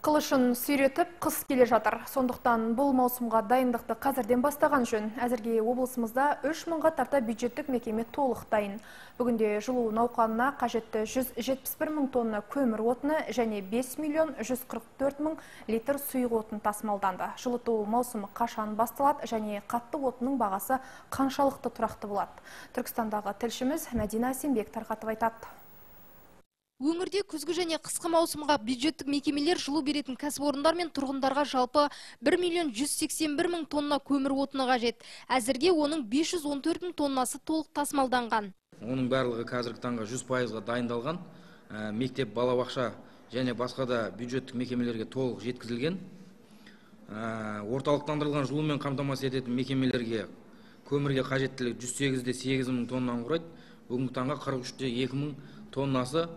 Қылышын сүйретіп қыс келе жатыр. Сондықтан бұл маусымға дайындықты қазірден бастаған жөн. Әзірге облысымызда 3000-ға тарта бюджеттік мекеме толық дайын. Бүгінде жылу науқанына қажетті 171 мың тонна көмір отыны және 5 миллион 144 мың литр сұйық отын тасымалданды. Жылыту маусымы қашан басталады және қатты отынның бағасы қаншалықты тұрақты болады? Түркістандағы тілшіміз Мәдина Асенбек тарқатып айтады. Өңірде күзгі және қысқы маусымға бюджеттік мекемелер жылу беретін кәсіпорындар мен тұрғындарға жалпы 1 миллион 181 мың тонна көмір отыны қажет. Әзірге оның 514 мың тоннасы толық тасымалданған. Оның барлығы қазіргі таңға 100%-ға дайындалған. Мектеп, балабақша және басқа да бюджеттік мекемелерге толық жеткізілген. Орталықтандырылған жылумен қамтамасыз ететін мекемелерге көмірге қажеттілік 108-де 8 мың тоннаны құрайды. Бүгінгі таңға 43-де 2 мың тоннасы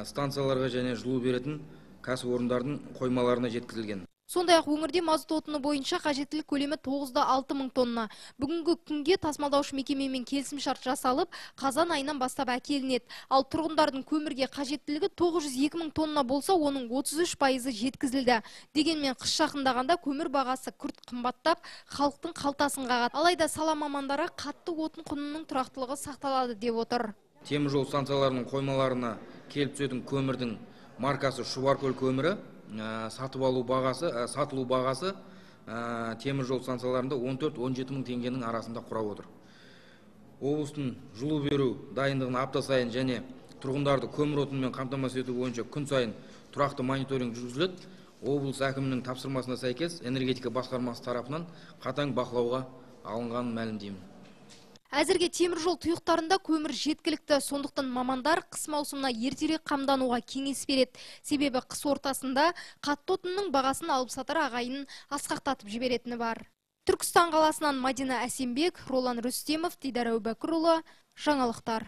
станцияларға және жылу беретін кәсіпорындардың қоймаларына жеткізілген. Сондай-ақ өңірде мазут отыны бойынша қажеттілік көлемі 9-да 6 мың тонна. Бүгінгі күнге тасымалдаушы мекемемен келісімшарт жасалып, қазан айынан бастап әкелінеді. Ал тұрғындардың көмірге қажеттілігі 902 мың тонна болса, оның 33% жеткізілді. Дегенмен қыс жақындағанда көмір бағасы күрт қымбаттап, халықтың қалтасын қағады. Алайда сала мамандары қатты отын құнының тұрақтылығы сақталады деп отыр. Теміржол станцияларының қоймаларына келіп түсетін көмірдің маркасы Шұбаркөл көмірі, сатылу бағасы теміржол станцияларында 14-17 мың теңгенің арасында құрап отыр. Облыстың жылу беру дайындығын апта сайын және тұрғындарды көмір отынымен қамтамасыз ету бойынша күн сайын тұрақты мониторинг жүргізіледі. Облыс әкімінің тапсырмасына сәйкес энергетика басқармасы тарапынан қатаң бақылауға алынғанын мәлімдеймін. Әзірге теміржол тұйықтарында көмір жеткілікті, сондықтан мамандар қыс маусымына ертерек қамдануға кеңес береді. Себебі қыс ортасында қатты отынның бағасын алып сатар ағайын асқақтатып жіберетіні бар. Түркістан қаласынан Мәдина Асенбек, Ролан Рүстемов, Дидар Әубәкірұлы, жаңалықтар.